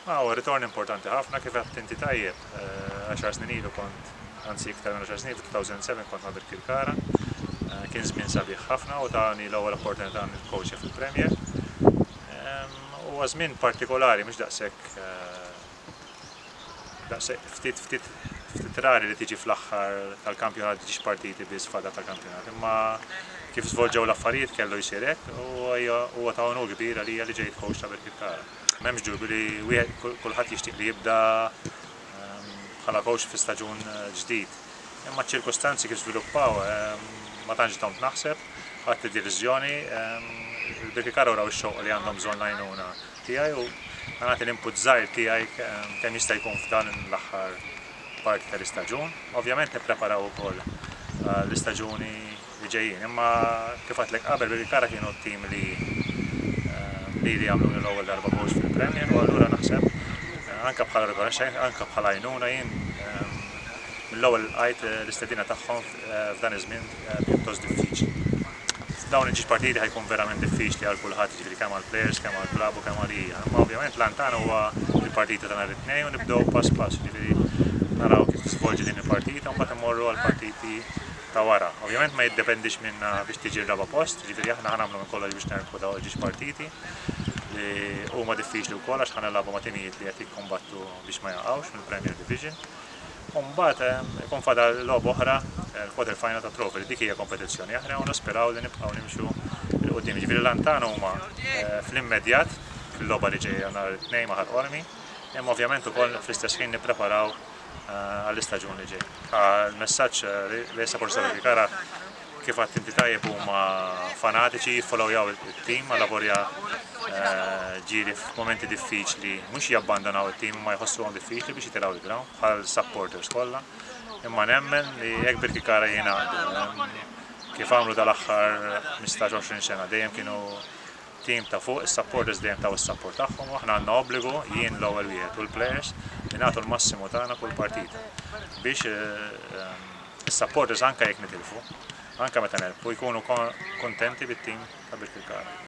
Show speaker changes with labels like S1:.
S1: Huwa ritorn importanti ħafna kif għedt inti tajjeb. 10 snin ilu kont, anzi iktar minn 10 snin, 2007 kont ma' Birkirkara. Kien żmien sabiħ ħafna u tani l-ewwel opportunità nikkowċja fil-Premier. Huwa żmien partikolari, mhux daqshekk ftit ftit ftit rari li tiġi fl-aħħar tal-kampjonat, tiġi partiti biss fada tal-kampjonat. Imma kif żvolġew l-affarijiet kellu jsir hekk u huwa ta' onur kbir għalija li ġejt coach ta' Birkirkara. M'hemmx dubju li wieħed kulħadd jixtieq li jibda bħala coach fi staġun ġdid. Imma ċ-ċirkustanzi kif żviluppaw ma tantx domt naħseb, ħadt id-deċiżjoni, il-Birkirkara wraw ix-xewqa li għandhom bżonn l-għajnuna tiegħi u nagħti l-input żgħir tiegħi kemm jista' jkun f'dan l-aħħar parti tal-istaġun. Ovvjament nippreparaw ukoll l-istaġuni li ġejjin, imma kif għedtlek qabel, Birkirkara kienu t-tim li għamluni l-ewwel darba coach fil-Premier u allura naħseb anke bħala rikonoxximent, anke bħala għajnuna jien mill-ewwel lqajt l-istedina tagħhom f'dan iż-żmien pjuttost diffiċli. Dawn il-ġiex partiti ħa jkun verament diffiċli għal kulħadd, jiġifieri kemm għall players, kemm għall klabb u kemm għalija. Imma ovvjament l-għan tagħna huwa il-partita ta' nhar it-Tnejn u nibdew pass pass, jiġifieri naraw kif tiżvolġi din il-partita u mbagħad immorru għal partiti ta' wara. Ovvjament ma jiddependix minna biex tiġi r-raba' post, jiġifieri aħna ħa nagħmlu minn kollox biex nerbħu dawn il-ġiex partiti li huma diffiċli wkoll għax ħa nilagħbu ma' timijiet li qed jikkombattu biex ma jaqgħux mill-Premier Division. U mbagħad ikun fadal logħba oħra, il-quarter final ta' trophy, li dik hija kompetizzjoni oħra u nisperaw li nibqgħu nimxu 'l quddiem. Ġifieri l-għan tagħna huma fl-immedjat fil-logħba li ġejja nhar it-Tnejn ma' Ħal Qormi, imma ovvjament ukoll fl-istess ħin nippreparaw għall-istaġun li ġej. Il-messaġġ li supporters ta' Birkirkara, kif għedt inti tajjeb, huma fanatiċi, jiffollowjaw it-tim għal ġieli f'momenti diffiċli mhux jabbandonaw it-tim, ma jħossuhom diffiċli biex jitilgħu il-ground bħal supporters kollha. Imma nemmen li jekk Birkirkara jingħaqdu kif għamlu dal-aħħar 15-20 sena, dejjem kienu tim ta' fuq, is-supporters dejjem taw is-support tagħhom u aħna għandna obbligu, jien l-ewwel wieħed u l-players, li nagħtu l-massimu tagħna kull partita biex is-supporters, anke jekk nitilfu, anke meta nerbħu, jkunu kontenti bit-tim ta' Birkirkara.